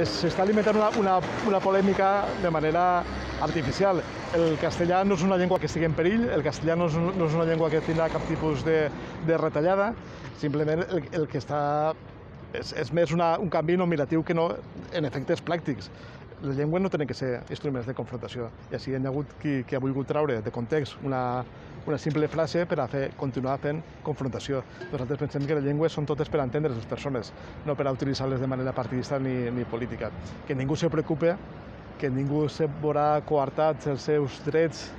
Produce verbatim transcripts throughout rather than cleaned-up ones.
s'està alimentant una, una, una polèmica de manera artificial. El castellà no és una llengua que estigui en perill, el castellà no és, no és una llengua que tindrà cap tipus de, de retallada, simplement el, el que està és, és més una, un canvi nominatiu que no en efectes pràctics. Les llengües no tenen que ser instruments de confrontació, i així hi ha hagut qui, qui ha volgut treure de context una, una simple frase per a fer, continuar fent confrontació. Nosaltres pensem que les llengües són totes per entendre les persones, no per a utilitzar-les de manera partidista ni, ni política. Que ningú se preocupe, que ningú se veurà coartats els seus drets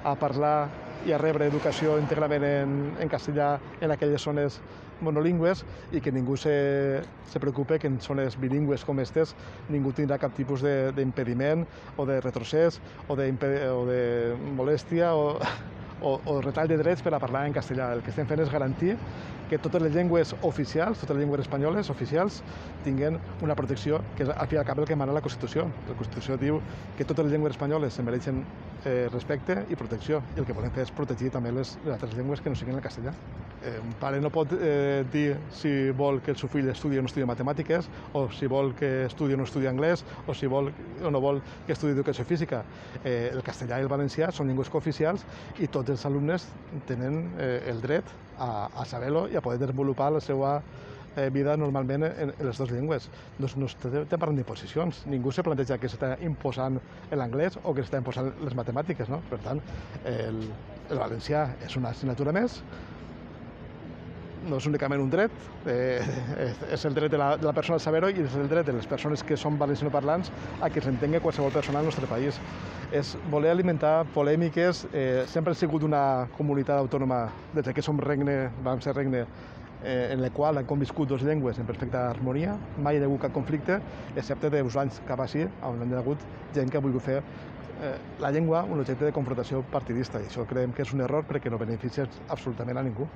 a parlar i a rebre educació íntegrament en, en castellà en aquelles zones monolingües, i que ningú se, se preocupe que en zones bilingües com aquestes ningú tindrà cap tipus d'impediment o de retrocés o de, o de molèstia o, o, o retall de drets per a parlar en castellà. El que estem fent és garantir que totes les llengües oficials, totes les llengües espanyoles oficials, tinguin una protecció, que és al fi i al cap el que mana la Constitució. La Constitució diu que totes les llengües espanyoles se mereixen eh, respecte i protecció, i el que volem fer és protegir també les, les altres llengües que no siguin el castellà. Eh, un pare no pot eh, dir si vol que el seu fill estudi o no estudi matemàtiques, o si vol que estudi o no estudi anglès, o si vol o no vol que estudi educació física. Eh, el castellà i el valencià són llengües cooficials i tots els alumnes tenen eh, el dret a, a saber-lo i a poder desenvolupar la seva eh, vida normalment en, en les dues llengües. No, no estem parlant d'imposicions. Ningú se planteja que s'està imposant l'anglès o que s'està imposant les matemàtiques, no? Per tant, el, el valencià és una assignatura més, no és únicament un dret, eh, és el dret de la, de la persona a saber-ho, i és el dret de les persones que són valencianoparlants a que s'entengui qualsevol persona al nostre país. És voler alimentar polèmiques. Eh, sempre ha sigut una comunitat autònoma, des que som regne, vam ser regne, eh, en la qual han conviscut dues llengües en perfecta harmonia, mai hi ha hagut cap conflicte, excepte d'uns anys cap així, on hi ha hagut gent que ha volgut fer eh, la llengua un objecte de confrontació partidista, i això creiem que és un error perquè no beneficia absolutament a ningú.